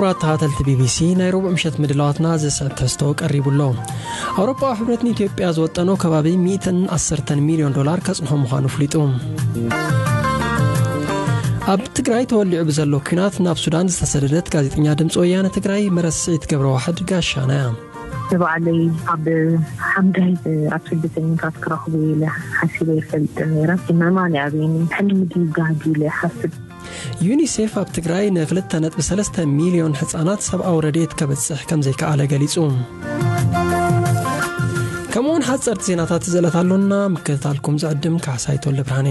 ክቡራት ተኸታተልቲ ቢቢሲ፣ ናይ ረቡዕ ምሸት ምድላዋትና ዘስዕብ ትሕዝቶ ቀሪቡ ኣሎ። ኣውሮፓዊ ሕብረት ንኢትዮጵያ ዝወጠኖ ከባቢ ሚእትን ዓሰርተን ሚልዮን ዶላር ከጽንሖ ምዃኑ ኣፍሊጡ። ኣብ ትግራይ ተወሊዑ ብዘሎ ኲናት ናብ ሱዳን ዝተሰደደት ጋዜጠኛ ድምፂ ወያነ ትግራይ መረስዒት ገብረ ዋሕድ ጋሻና እያ። ንባዕለይ ኣብ ሓምዳይ ኣብ ስደተኛታት ክረኽቡ ኢለ ሓሲበ ይፈልጥ ነይረ። ሕመማ ንኣብየኒ ሕልሚ ድዩ ጋህዲ ኢለ ይሓስብ። ዩኒሴፍ ኣብ ትግራይ ንክልተ ነጥቢ ሰለስተ ሚልዮን ህጻናት ሰብኣዊ ረድኤት ከበጽሕ ከም ዘይከኣለ ገሊጹ። ከምኡውን ሓጸርቲ ዜናታት ዘለት ኣሎና፣ ምክትታልኩም ዝዕድም ካሕሳይ ተወልደ ብርሃኔ።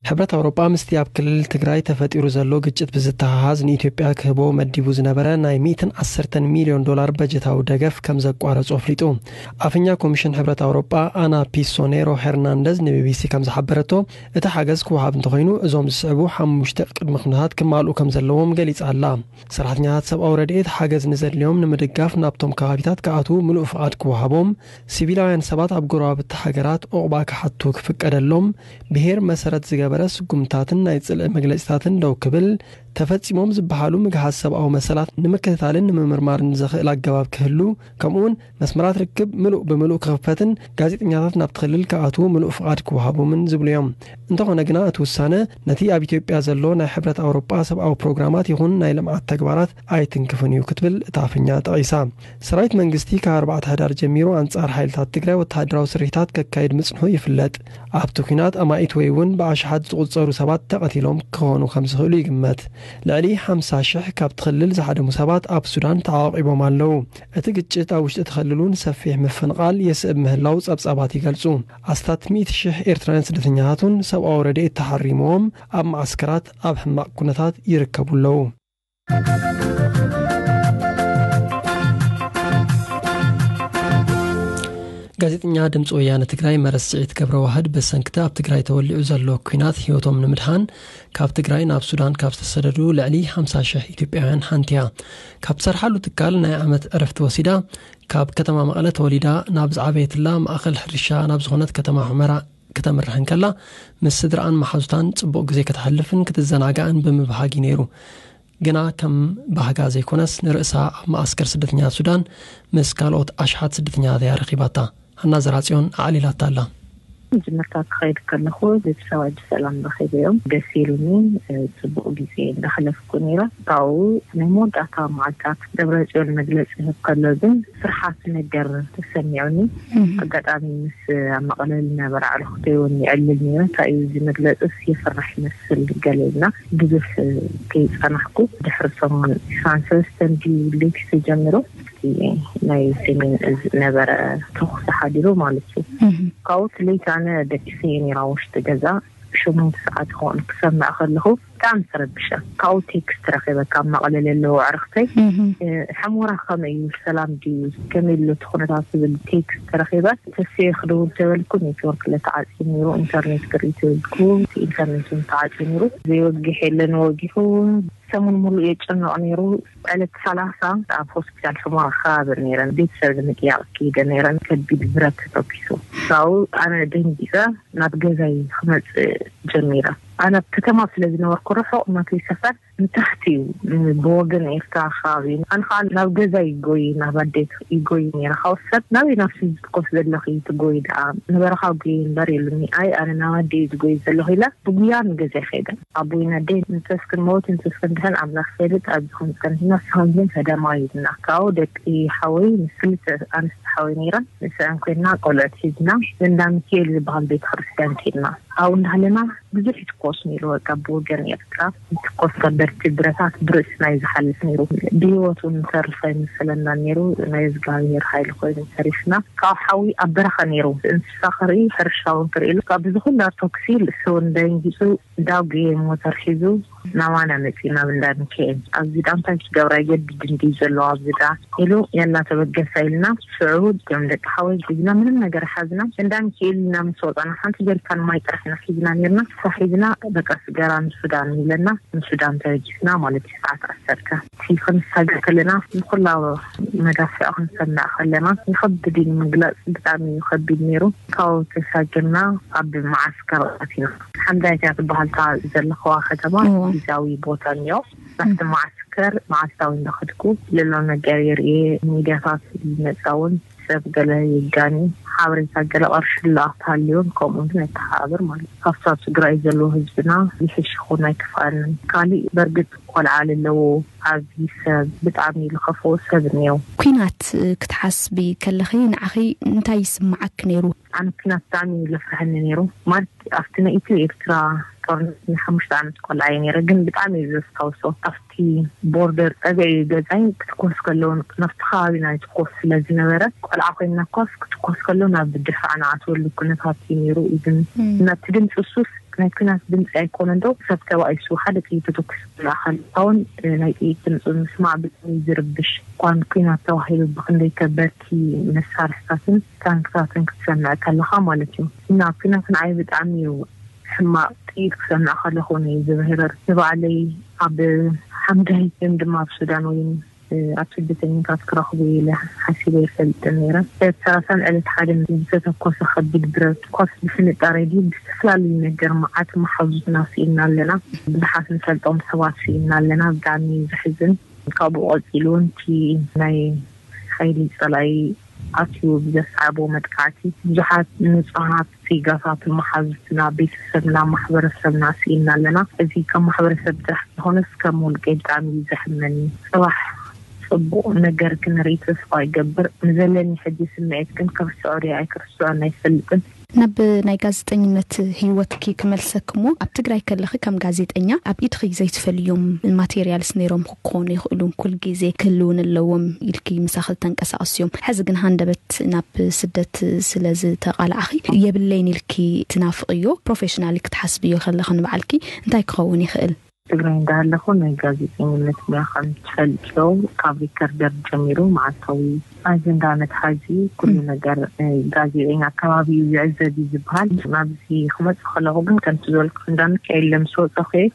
ሕብረት ኣውሮጳ ምስቲ ኣብ ክልል ትግራይ ተፈጢሩ ዘሎ ግጭት ብዝተሓሓዝ ንኢትዮጵያ ክህቦ መዲቡ ዝነበረ ናይ ሚእትን ዓሰርተን ሚልዮን ዶላር በጀታዊ ደገፍ ከም ዘቋረጾ ኣፍሊጡ። ኣፈኛ ኮሚሽን ሕብረት ኣውሮጳ ኣና ፒሶኔሮ ሄርናንደዝ ንቢቢሲ ከም ዝሓበረቶ፣ እቲ ሓገዝ ክወሃብ እንተኾይኑ እዞም ዝስዕቡ ሓሙሽተ ቅድመ ኩነታት ክማልኡ ከም ዘለዎም ገሊጻ ኣላ። ሰራሕተኛታት ሰብኣዊ ረድኤት ሓገዝ ንዘድልዮም ንምድጋፍ ናብቶም ከባቢታት ክኣትዉ ምሉእ ፍቓድ ክወሃቦም፣ ሲቪላውያን ሰባት ኣብ ጎረባብቲ ሃገራት ዑቕባ ክሓቱ ክፍቀደሎም፣ ብሄር መሰረት ዝገበረ ስጉምታትን ናይ ጽልኢ መግለጺታትን ደው ክብል፣ ተፈጺሞም ዝበሃሉ ምግሃስ ሰብኣዊ መሰላት ንምክትታልን ንምምርማርን ዘኽእል ኣገባብ ክህሉ፣ ከምኡውን መስመራት ርክብ ምሉእ ብምሉእ ክኽፈትን ጋዜጠኛታት ናብቲ ክልል ክኣትዉ ምሉእ ፍቓድ ክወሃቦምን ዝብሉ እዮም። እንተኾነ ግና እቲ ውሳነ ነቲ ኣብ ኢትዮጵያ ዘሎ ናይ ሕብረት ኣውሮጳ ሰብኣዊ ፕሮግራማት ይኹን ናይ ልምዓት ተግባራት ኣይትንክፍን እዩ ክትብል እታ ኣፈኛ ጠቒሳ። ሰራዊት መንግስቲ ካብ ኣርባዕተ ሕዳር ጀሚሩ ኣንጻር ሓይልታት ትግራይ ወተሃደራዊ ስርሒታት ከካይድ ምጽንሑ ይፍለጥ። ኣብቲ ኲናት ኣማኢት ወይ እውን ብኣሽሓት ዝቑጸሩ ሰባት ተቐቲሎም ክኾኑ ከም ዝኽእሉ ይግመት። ልዕሊ ሓምሳ ሽሕ ካብቲ ክልል ዝሃደሙ ሰባት ኣብ ሱዳን ተዓቂቦም ኣለዉ። እቲ ግጭት ኣብ ውሽጢ እቲ ክልል እውን ሰፊሕ ምፍንቓል የስዕብ ምህላው ጸብጻባት ይገልጹ። ኣስታት ሚእቲ ሽሕ ኤርትራውያን ስደተኛታት እውን ሰብኣዊ ረድኤት ተሓሪምዎም ኣብ መዓስከራት ኣብ ሕማቕ ኩነታት ይርከቡ ኣለዉ። ጋዜጠኛ ድምፂ ወያነ ትግራይ መረስዒት ገብረ ዋህድ ብሰንክቲ ኣብ ትግራይ ተወሊዑ ዘሎ ኲናት ህይወቶም ንምድሓን ካብ ትግራይ ናብ ሱዳን ካብ ዝተሰደዱ ልዕሊ ሓምሳ ሽሕ ኢትዮጵያውያን ሓንቲ እያ። ካብ ትሰርሓሉ ትካል ናይ ዓመት ዕረፍቲ ወሲዳ፣ ካብ ከተማ መቐለ ተወሊዳ ናብ ዝዓበየትላ ማእኸል ሕርሻ ናብ ዝኾነት ከተማ ሑመራ ክተምርሕ እንከላ፣ ምስ ስድራኣን መሓዙታን ጽቡቕ ግዜ ከተሕልፍን ክትዘናጋዕን ብምብሃግ እዩ ነይሩ። ግና ከም ባህጋ ዘይኮነስ፣ ንርእሳ ኣብ መዓስከር ስደተኛታት ሱዳን ምስ ካልኦት ኣሽሓት ስደተኛታት እያ ረኺባታ። ሃና ዘራጽዮን ኣዕሊላታ ኣላ። መጀመርታ ክኸይድ ከለኹ ቤተሰባ ብሰላም ረኺበዮም። ደስ ኢሉኒ፣ ጽቡቕ ግዜ እንዳሕለፍኩ ነይረ። ካብኡ ናይ መወዳእታ መዓልታት ደብረጽዮን መግለጺ ይህብ ከሎ ግን ፍርሓት ነገር ተሰሚዑኒ። ኣጋጣሚ ምስ ኣብ መቐለ ዝነበረ ኣዕሩኽተይ እውን ይዕልል ነይረ። እንታይ እዩ እዚ መግለጽስ የፍርሕ ይመስል ገለ ኢልና ብዙሕ ከይጸናሕኩ ድሕሪ ሰሙን ዒስራን ሰለስተን ድዩ ለይቲ ተጀሚሩ እቲ ናይ ሰሜን እዝ ነበረ ተኹሲ ሓዲሩ ማለት እዩ። ካብኡ እቲ ለይቲ ኣነ ደቂሰ እየ ነይራ ውሽጢ ገዛ። ሸሞንተ ሰዓት ይኸውን ክሰምዕ ከለኹ ብጣዕሚ ተረቢሸ። ካብኡ ቴክስት ረኺበ ካብ መቐለ ለለዉ ኣዕርኽተይ። እ፣ ሕሞራ ከመይ እዩ? ሰላም ድዩ? ከመይ ኣሎ እቲ ኩነታት ዝብል ቴክስት ረኺበ። ተስየ ክድውል ተበልኩ ኔትወርክ ለተዓጽዩ ነይሩ፣ ኢንተርኔት ክርኢ ተበልኩ ኢንተርኔት እውን ተዓጽዩ ነይሩ። ዘይወግሕ የለን ወጊሑ። ሰሙን ሙሉእ የጨንቕ ነይሩ። ዕለት ሰላሳ ኣብ ሆስፒታል ሕሞራ ከባቢ ነይረን ቤተሰብ ንምጥያቕ ከይደ ነይረን ከቢድ ብረት ተተኪሱ። ካብኡ ኣነ ደንጊጸ ናብ ገዛይ ክመጽእ ጀሚረ። ኣነ ኣብ ከተማ ስለ ዝነበርኩ ርሑቕ ናተይ ሰፈር ንታሕቲ እዩ፣ ብወገን ኤርትራ ከባቢ። ኣነ ከዓ ናብ ገዛይ ይጎይ፣ ናብ ኣደይ ይጎይ ነይረ። ካብኡ ሰብ ናበይ ናብ ዝትኮስ ዘለኺ ትጎይ ደኣ ንበረኻ ጉይ እምበር ኢሉኒ። ኣይ ኣነ ናብ ኣደይ ዝጎይ ዘለኹ ኢለ ብጉያ ንገዛይ ከይደ። ኣቦይን ኣደይን እንተስ ክንመውት እንተስ ክንድሕን ኣምላኽ ይፈልጥ፣ ኣብዚ ከም ጸኒሕና ንስኻን ግን ፈደማዊ ኢልና። ካብኡ ደቂ ሓወይ ምስ ክልተ ኣንስቲ ሓወይ ነይረን ንስዐን ኮይንና ቆልዑት ሒዝና እንዳ ሚካኤል ዝበሃል ቤተ ክርስቲያን ከይድና። ኣብኡ እንዳሃለና ብዙሕ ይትኮስ ነይሩ። በቃ ብወገን ኤርትራ ይትኮስ ከበድቲ ብረታት ብርእስና እዩ ዝሓልፍ ነይሩ። ብህይወት እውን ንተርፍ ኣይመሰለና ነይሩ። ናይ እግዚኣብሔር ሓይሊ ኮይኑ ተሪፍና። ካብ ሓዊ ኣብ በረኻ ነይሩ። እንስሳ ክርኢ ሕርሻ እውን ክርኢ ኢሉ ካብ እዚ ኩላ ተኩሲ ርእሱ እውን ደንጊጹ ዳጉየ ሞተር ሒዙ ናባና መፂና ኣብ እንዳ ሚካኤል። ኣብዚ ዳ እንታይ ክገብራ ይገድድ እንዲ ዘሎ ኣብዚ ዳ ኢሉ፣ የላ ተበገሳ ኢልና፣ ሽዑ እቶም ደቂ ሓወይ ሒዝና ምንም ነገር ሓዝና፣ እንዳ ሚካኤል ኢና ምስ ወፃና ሓንቲ ጀሪካን ማይ ጥራሕ ኢና ሒዝና ነርና። እሳ ሒዝና በቃ ስገራ ንሱዳን ኢለና፣ ንሱዳን ተበጊስና ማለት እዩ። ሰዓት ዓሰርተ እቲ ክንሳገር ከለና ንኩላ መዳፍዕ ክንሰምዕ ከለና ይኸብድ እዩ ንምግላፅ፣ ብጣዕሚ እዩ ከቢድ ነይሩ። ካብኡ ተሳጊርና ኣብ መዓስከር ኣቲና። ሓምዳይት እያ ትበሃል እታ ዘለኸዋ ከተማ። እዎ። ግዛዊ ቦታ እኒኦ። ናብቲ መዓስከር መዓልታዊ እንዳኸድኩ ዘሎ ነገር የርእየ። ሚድያታት ይመፃ እውን ሰብ ገለ የጋኒ ሓበሬታ ገለ ቅርሺ ላኣክ ሃልዮን ከምኡ ግን ኣይተሓባብር ማለት እዩ። ካብታ ትግራይ ዘለዎ ህዝብና ይሕሽ ይኹን ኣይከፍኣንን። ካሊእ በርግጥ ቆልዓ ለለዎ ኣብዚ ሰብ ብጣዕሚ ዝኸፍኦ ሰብ እኒኦ። ኩናት ክትሓስቢ ከለኺ ንዓኺ እንታይ ይስምዓኪ ነይሩ? ኣነ ኩናት ብጣዕሚ እዩ ዘፍርሐኒ ነይሩ። ማለት ኣብቲ ናይ ኢትዮ ኤርትራ ጦርነት ናይ ሓሙሽተ ዓመት ቆልዓ እየ ነይረ፣ ግን ብጣዕሚ እዩ ዘስታውሶ። ኣብቲ ቦርደር ፀግዒ ገዛይ ክትኮስ ከለውን ናብቲ ከባቢና ይትኮስ ስለ ዝነበረ፣ ቆልዓ ኮይና ኳስ ክትኮስ ከሎ ናብ ድፋዕ ንኣትወሉ ኩነታት እዩ ነይሩ። ኢዝን ናብቲ ድምፂ ሱስ ናይ ኩናት ድምፂ ኣይኮነን ዶ ሰብ ተባኢሱ ሓደ ጥይት ተተኩስ ማእኸል ኣውን ናይ ጥይት ድምፂ ምስማዕ ብጣዕሚ ዝርብሽ። እኳን ኩናት ተባሂሉ ብክንደይ ከበድቲ መሳርሕታትን ታንክታትን ክትሰምዕ ከለኻ ማለት እዩ። እና ኩናት ንዓይ ብጣዕሚ እዩ ሕማቕ። ጥይት ክሰምዕ ከለኹ እዩ ዝብህርር። ንባዕለይ ኣብ ሓምዳይ ግን ድማ ኣብ ሱዳን ወይ ኣብ ስደተኛታት ክረኽቡ ኢለ ሓሲበ ይፈልጥ ነይረ። ዕለት ሰላሳን ዕለት ሓደን ዝተተኮሰ ከቢድ ብረት ኳስ ብፍንጣ ሬድዮ ብዝተፈላለዩ ነገር መዓት መሓዙትና ስኢና ኣለና። ብዙሓት ንፈልጦም ሰባት ስኢና ኣለና። ብጣዕሚ እዩ ዘሕዝን። ካብኡ ቀፂሉ እውን እቲ ናይ ሓይሊ ፀላኢ ኣትዩ ብዘስዓቦ መጥቃዕቲ ብዙሓት ንፁሃት ዜጋታት መሓዙትና፣ ቤተሰብና፣ ማሕበረሰብና ስኢና ኣለና። እዚ ከም ማሕበረሰብ ጥራሕ ዝኾነስ ከም ውልቀ ብጣዕሚ እዩ ዘሕመኒ። ጽባሕ ጽቡቕ ነገር ክንርኢ ተስፋ ይገብር። ንዘለኒ ሕጂ ስምዒት ግን ክርስዖ ድየ ኣይክርስዖን ኣይፈልጥን። ናብ ናይ ጋዜጠኝነት ህይወትኪ ክመልሰክሞ፣ ኣብ ትግራይ ከለኺ ከም ጋዜጠኛ ኣብ ኢድኺ ዘይትፈልዮም ማቴሪያልስ ነይሮም ክኾኑ ይኽእሉ፣ ኩል ግዜ ክህልውን ኣለዎም ኢልኪ ምሳኺ ተንቀሳቐስዮም። ሕዚ ግን ሃንደበት ናብ ስደት ስለ ዝተቓላዕኺ የብለይን ኢልኪ ትናፍቕዮ፣ ፕሮፌሽናሊ ክትሓስብዮ ከለኺ ንባዕልኪ እንታይ ክኸውን ይኽእል? ትግራይ እንዳሃለኹ ናይ ጋዜጠኝነት ሙያ ከም ትፈልጥዮ ካብ ሪከርደር ጀሚሩ መዓልታዊ ኣጀንዳ መትሓዚ ኩሉ ነገር፣ እ፣ ጋዜጠኛ ከባቢኡ ዝዕዘብ እዩ ዝበሃል። ናብዚ ክመፅእ ከለኹ ግን ከምቲ ዝበልኩ እንዳ ሚካኤል ምስ ወፀኹ እየ።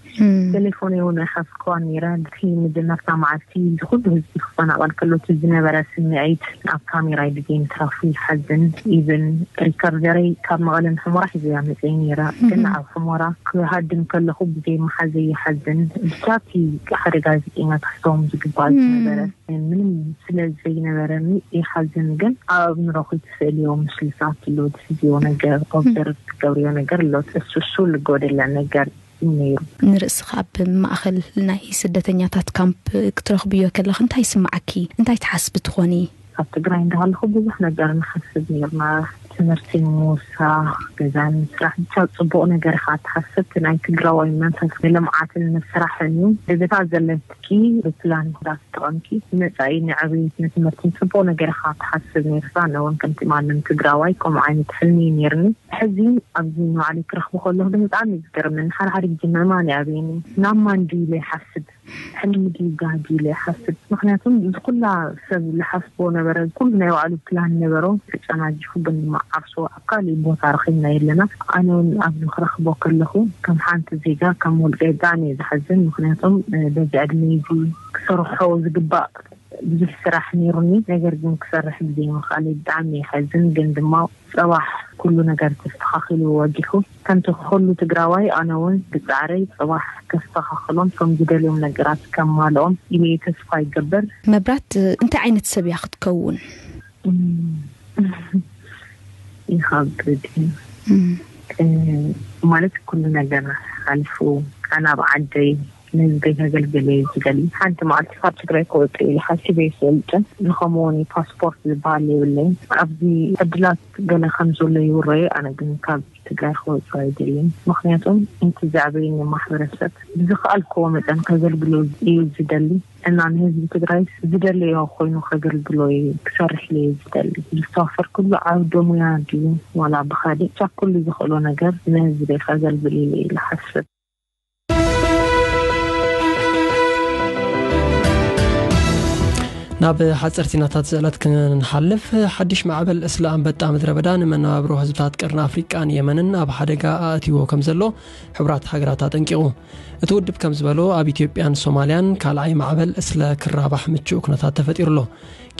ቴሌፎን እውን ኣይሓዝክዋን ነይረ። እቲ መጀመርታ መዓልቲ እዚ ኩሉ ህዝቢ ክፈናቐል ከሎ እቲ ዝነበረ ስምዒት ኣብ ካሜራይ ብዘይ ምትራፉ ይሓዝን። ኢቨን ሪከርደረይ ካብ መቐለ ንሑመራ ሒዘያ መፅየ ነይረ። ግን ኣብ ሑመራ ክሃድም ከለኹ ብዘይ ምሓዘይ ይሓዝን። ብቻ እቲ ሓደ ጋዜጠኛ ክሕዞም ዝግባእ ዝነበረ ምንም ስለ ዘይነበረኒ ይሓዝን። ግን ኣብ ንረኹ ትስእልዮ ምስልታት ኣሎ፣ ትሕዝዮ ነገር፣ ኦብዘርቭ ትገብርዮ ነገር ኣሎ። እሱ እሱ ልጎደለ ነገር እዩ ነይሩ። ንርእስኻ ኣብ ማእኸል ናይ ስደተኛታት ካምፕ ክትረኽብዮ ከለኺ እንታይ ይስምዓኪ? እንታይ ትሓስቢ ትኾኒ? ኣብ ትግራይ እንዳሃለኹ ብዙሕ ነገር ንሓስብ ነይርና። ትምህርቲ ምውሳኽ፣ ገዛ ንምስራሕ፣ ብቻ ጽቡቕ ነገር ኢኻ ትሓስብ። እቲ ናይ ትግራዋይ መንፈስ ንልምዓትን ንስራሕን እዩ። ብዝታ ዘለትኪ ብፕላን ክትጥቀምኪ ንመጻኢ ንዕብየት ንትምህርትን ጽቡቕ ነገር ኢኻ ትሓስብ ነይርካ። ኣነ እውን ከምቲ ማንም ትግራዋይ ከምኡ ዓይነት ሕልሚ እዩ ነይርኒ። ሕዚ ኣብዚ ንባዕለይ ክረኽቦ ከለኹ ግን ብጣዕሚ እዩ ዝገርመኒ። ሓደ ሓደ ግዜ ምእማን ይኣብየኒ። ናብ ማን ድዩ ኢለ ይሓስብ። ሕልሚ ድዩ ጋህዲ ኢለ ይሓስብ። ምኽንያቱም እዚ ኩላ ሰብ ዝሓስቦ ነበረ፣ ኩሉ ናይ ባዕሉ ፕላን ነበሮ፣ ተጨናጊፉ ግን ድማ ዓርሱ ኣብ ካሊእ ቦታ ረኺብናዮ ኣለና። ኣነ እውን ኣብዚ ክረኽቦ ከለኹ ከም ሓንቲ ዜጋ፣ ከም ውልቀ ብጣዕሚ እየ ዝሓዝን። ምኽንያቱም፣ እ፣ በዚ ዕድመ እዚ ክሰርሖ ዝግባእ ብዙሕ ስራሕ ነይሩኒ፣ ነገር ግን ክሰርሕ ብዘይምኽኣለይ ብጣዕሚ ይሓዝን። ግን ድማ ጽባሕ ኩሉ ነገር ተስተኻኺሉ ወጊሑ። ከምቲ ኩሉ ትግራዋይ ኣነ እውን ብጻዕረይ ጽባሕ ከስተኻኽሎም፣ ከም ዝደልዮም ነገራት ከማልኦም ኢለ ተስፋ ይገብር። መብራት እንታይ ዓይነት ሰብ እያ ክትከውን? እም፣ ይኸብድ እዩ። እም። እ፣ ማለት ኩሉ ነገር ሓሊፉ ኣነ ኣብ ዓደይ ንህዝበይ ከገልግል እየ ዝደሊ። ሓንቲ መዓልቲ ካብ ትግራይ ክወፅእ ኢለ ሓሲበ ይፈልጥን። ንኸምኡ እውን ፓስፖርት ዝበሃል የብለይን። ኣብዚ ዕድላት ገለ ከም ዘሎ ይውረዩ። ኣነ ግን ካብ ትግራይ ክወፅእ ኣይደልን። ምኽንያቱም እቲ ዘዕበየኒ ማሕበረሰብ ብዝኸኣልክዎ መጠን ከገልግሎ እዩ ዝደሊ። እና ንህዝቢ ትግራይ ዝደለዮ ኮይኑ ከገልግሎ እዩ ክሰርሕ ኢለ እየ ዝደሊ። ዝተዋፈርኩሉ ዓውደ ሙያ ድዩ ዋላ ብኻሊእ፣ ብቻ ኩሉ ዝኽእሎ ነገር ንህዝበይ ከገልግል ኢለ እየ ዝሓስብ። ናብ ሓፀርቲ ናታት ዝዕለት ክንሓልፍ፣ ሓድሽ ማዕበል እስለ ኣንበጣ ምድረ በዳ ንመነባብሮ ህዝብታት ቀርኒ ኣፍሪቃን የመንን ኣብ ሓደጋ ኣእትይዎ ከም ዘሎ ሕቡራት ሃገራት ኣጠንቂቑ። እቲ ውድብ ከም ዝበሎ፣ ኣብ ኢትዮጵያን ሶማልያን ካልኣይ ማዕበል እስለ ክራባሕ ምቹእ ኩነታት ተፈጢሩ ኣሎ።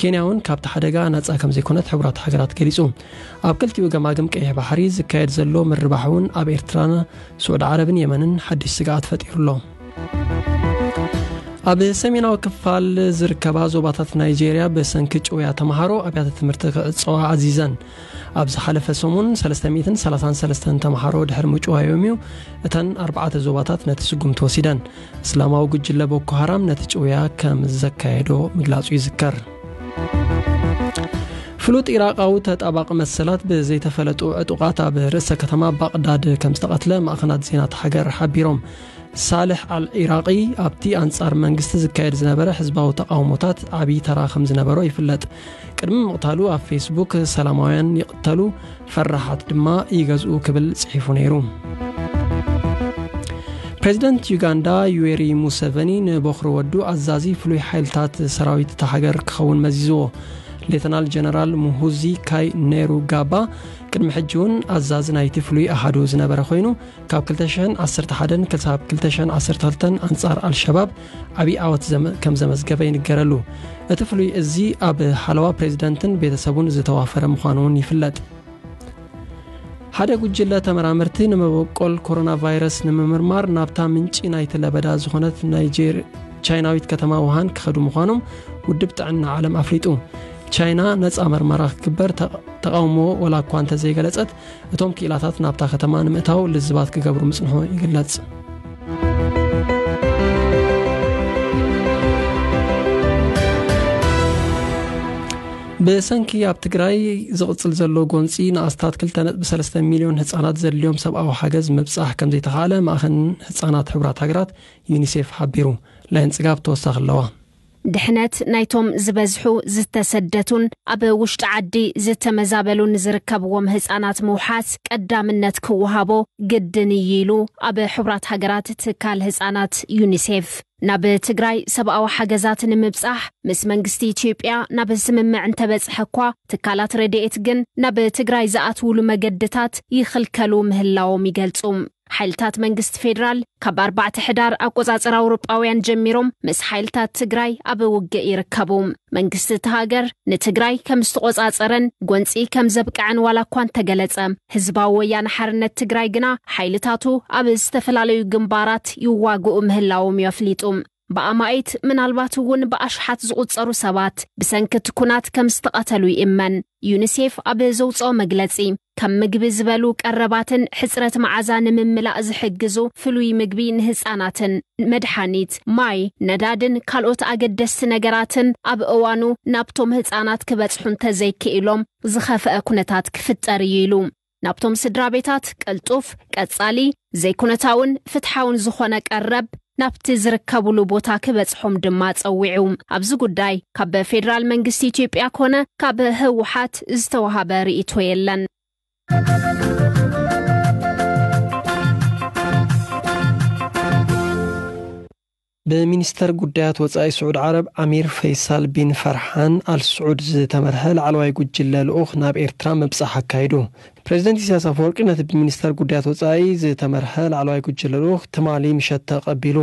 ኬንያ እውን ካብቲ ሓደጋ ናጻ ከም ዘይኮነት ሕቡራት ሃገራት ገሊጹ። ኣብ ክልቲኡ ገማግም ቀይሕ ባሕሪ ዝካየድ ዘሎ ምርባሕ እውን ኣብ ኤርትራን ስዑዲ ዓረብን የመንን ሓድሽ ስግኣት ፈጢሩ ኣሎ። ኣብ ሰሜናዊ ክፋል ዝርከባ ዞባታት ናይጄርያ ብሰንኪ ጭውያ ተምሃሮ ኣብያተ ትምህርቲ ክዕጸዋ ኣዚዘን። ኣብ ዝሓለፈ ሰሙን ሰለስተ ሚእትን ሰላሳን ሰለስተን ተምሃሮ ድሕሪ ምጭዋዮም እዩ እተን ኣርባዕተ ዞባታት ነቲ ስጉምቲ ወሲደን። እስላማዊ ጉጅለ ቦኮ ሃራም ነቲ ጭውያ ከም ዘካየዶ ምግላጹ ይዝከር። ፍሉጥ ኢራቃዊ ተጣባቂ መሰላት ብዘይተፈለጡ ዕጡቓት ኣብ ርእሰ ከተማ ባቕዳድ ከም ዝተቐትለ ማእኸናት ዜና እታ ሃገር ሓቢሮም። ሳልሕ ኣል ኢራቂ ኣብቲ ኣንጻር መንግስቲ ዝካየድ ዝነበረ ህዝባዊ ተቃውሞታት ዓብዪ ተራ ከም ዝነበሮ ይፍለጥ። ቅድሚ ምቕታሉ ኣብ ፌስቡክ "ሰላማውያን ይቕተሉ፣ ፈራሓት ድማ ይገዝኡ" ክብል ጽሒፉ ነይሩ። ፕሬዚደንት ዩጋንዳ ዩዌሪ ሙሰቨኒ ንቦኽሪ ወዱ ኣዛዚ ፍሉይ ሓይልታት ሰራዊት እታ ሃገር ክኸውን መዚዝዎ። ሌተናል ጀነራል ሙሁዚ ካይ ኔሩ ጋባ ቅድሚ ሕጂ እውን ኣዛዚ ናይቲ ፍሉይ ኣሃዱ ዝነበረ ኮይኑ፣ ካብ ክልተ ሽሕን ዓሰርተ ሓደን ክሳብ ክልተ ሽሕን ዓሰርተ ክልተን ኣንጻር ኣልሸባብ ዓብዪ ዓወት ዘመ-፣ ከም ዘመዝገበ ይንገረሉ። እቲ ፍሉይ እዚ ኣብ ሓለዋ ፕሬዚደንትን ቤተሰቡን ዝተዋፈረ ምዃኑ እውን ይፍለጥ። ሓደ ጉጅለ ተመራመርቲ ንመበቆል ኮሮና ቫይረስ ንምምርማር ናብታ ምንጪ ናይቲ ለበዳ ዝኾነት ናይጄር-፣ ቻይናዊት ከተማ ውሃን ክኸዱ ምዃኖም ውድብ ጥዕና ዓለም ኣፍሊጡ። ቻይና ነጻ መርመራ ክትግበር ተቕ-፣ ተቓውሞ ወላ እኳ እንተዘይገለጸት፣ እቶም ክኢላታት ናብታ ከተማ ንምእታው ልዝባት ክገብሩ ምጽንሑ ይግለጽ። ብሰንኪ ኣብ ትግራይ ዝቕጽል ዘሎ ጎንጺ ንኣስታት ክልተ ነጥቢ ሰለስተ ሚልዮን ህጻናት ዘድልዮም ሰብኣዊ ሓገዝ ምብጻሕ ከም ዘይተኻእለ ማእኸን ህጻናት ሕቡራት ሃገራት ዩኒሴፍ ሓቢሩ። ላይን ጽጋብ ተወሳኺ ኣለዋ። ድሕነት ናይቶም ዝበዝሑ ዝተሰደቱን ኣብ ውሽጢ ዓዲ ዝተመዛበሉን ዝርከብዎም ህጻናት ምውሓስ ቀዳምነት ክወሃቦ ግድን እዩ ኢሉ ኣብ ሕቡራት ሃገራት ትካል ህጻናት ዩኒሴፍ። ናብ ትግራይ ሰብኣዊ ሓገዛት ንምብጻሕ ምስ መንግስቲ ኢትዮጵያ ናብ ስምምዕ እንተበጽሐ እኳ፣ ትካላት ረድኤት ግን ናብ ትግራይ ዝኣትውሉ መገድታት ይኽልከሉ ምህላዎም ይገልጹ። ሓይልታት መንግስቲ ፌደራል ካብ ኣርባዕተ ሕዳር ኣቆጻጽራ ኣውሮጳውያን ጀሚሮም ምስ ሓይልታት ትግራይ ኣብ ውግእ ይርከቡ። መንግስቲ እቲ ሃገር ንትግራይ ከም ዝተቆጻጸረን ጎንጺ ከም ዘብቅዐን ዋላ እኳ እንተገለጸ፣ ህዝባዊ ወያነ ሓርነት ትግራይ ግና ሓይልታቱ ኣብ ዝተፈላለዩ ግንባራት ይዋግኡ ምህላዎም እዩ ኣፍሊጡ። ብኣማኢት ምናልባት እውን ብኣሽሓት ዝቑጸሩ ሰባት ብሰንኪ እቲ ኩናት ከም ዝተቐተሉ ይእመን። ዩኒሴፍ ኣብ ዘውጽኦ መግለጺ፣ ከም ምግቢ ዝበሉ ቀረባትን ሕጽረት መዓዛ ንምምላእ ዝሕግዙ ፍሉይ ምግቢ ንህጻናትን መድሓኒት፣ ማይ፣ ነዳድን ካልኦት ኣገደስቲ ነገራትን ኣብ እዋኑ ናብቶም ህጻናት ክበጽሑ እንተዘይክኢሎም ዝኸፍአ ኩነታት ክፍጠር እዩ ኢሉ። ናብቶም ስድራ ቤታት ቅልጡፍ፣ ቀጻሊ፣ ዘይኩነታውን ፍትሓውን ዝኾነ ቀረብ ናብቲ ዝርከቡሉ ቦታ ክበጽሖም ድማ ጸዊዑ። ኣብዚ ጉዳይ ካብ ፌደራል መንግስቲ ኢትዮጵያ ኮነ ካብ ህወሓት ዝተዋሃበ ርእይቶ የለን። ብሚኒስተር ጉዳያት ወጻኢ ስዑድ ዓረብ ኣሚር ፈይሳል ቢን ፈርሓን ኣል ስዑድ ዝተመርሐ ላዕለዋይ ጉጅለ ልኡኽ ናብ ኤርትራ ምብጻሕ ኣካይዱ። ፕሬዚደንት ኢሳያስ ኣፈወርቂ ነቲ ብሚኒስተር ጉዳያት ወጻኢ ዝተመርሐ ላዕለዋይ ጉጅለ ልኡኽ ትማሊ ምሸት ተቐቢሉ።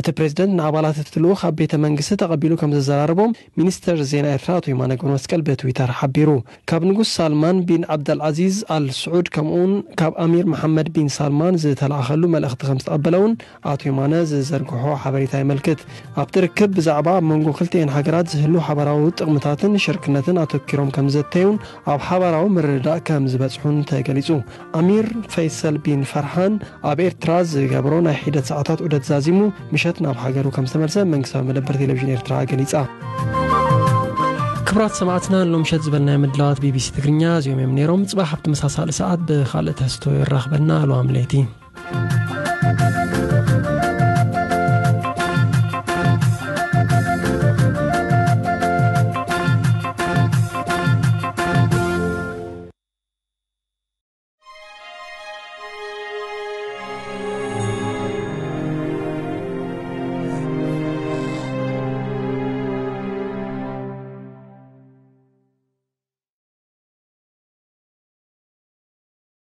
እቲ ፕሬዚደንት ንኣባላት እቲ ልኡኽ ኣብ ቤተ መንግስቲ ተቐቢሉ ከም ዘዘራረቦም ሚኒስተር ዜና ኤርትራ ኣቶ የማነ ገብረመስቀል ብትዊተር ሓቢሩ። ካብ ንጉስ ሳልማን ቢን ዓብደልዓዚዝ ኣል ስዑድ ከምኡውን ካብ ኣሚር መሓመድ ቢን ሳልማን ዝተላእኸሉ መልእኽቲ ከም ዝተቐበለ እውን ኣቶ የማነ ዝዘርግሖ ሓበሬታ የመልክት። ኣብቲ ርክብ ብዛዕባ ኣብ መንጎ ክልቲኤን ሃገራት ዝህሉ ሓባራዊ ጥቕምታትን ሽርክነትን ኣተኪሮም ከም ዘተዩን ኣብ ሓባራዊ ምርድዳእ ከም ዝበጽሑን ተገሊጹ። ኣሚር ፈይሰል ቢን ፈርሃን ኣብ ኤርትራ ዝገብሮ ናይ ሒደት ሰዓታት ዑደት ዛዚሙ ምሸት ናብ ሃገሩ ከም ዝተመልሰ መንግስታዊ መደበር ቴሌቪዥን ኤርትራ ገሊጻ። ክቡራት ሰማዕትና፣ ሎም ምሸት ዝበልናዮ ምድላዋት ቢቢሲ ትግርኛ እዚኦም እዮም ነይሮም። ጽባሕ ኣብ ተመሳሳሊ ሰዓት ብኻልእ ትሕዝቶ የራኽበና። ኣልዋም ለይቲ።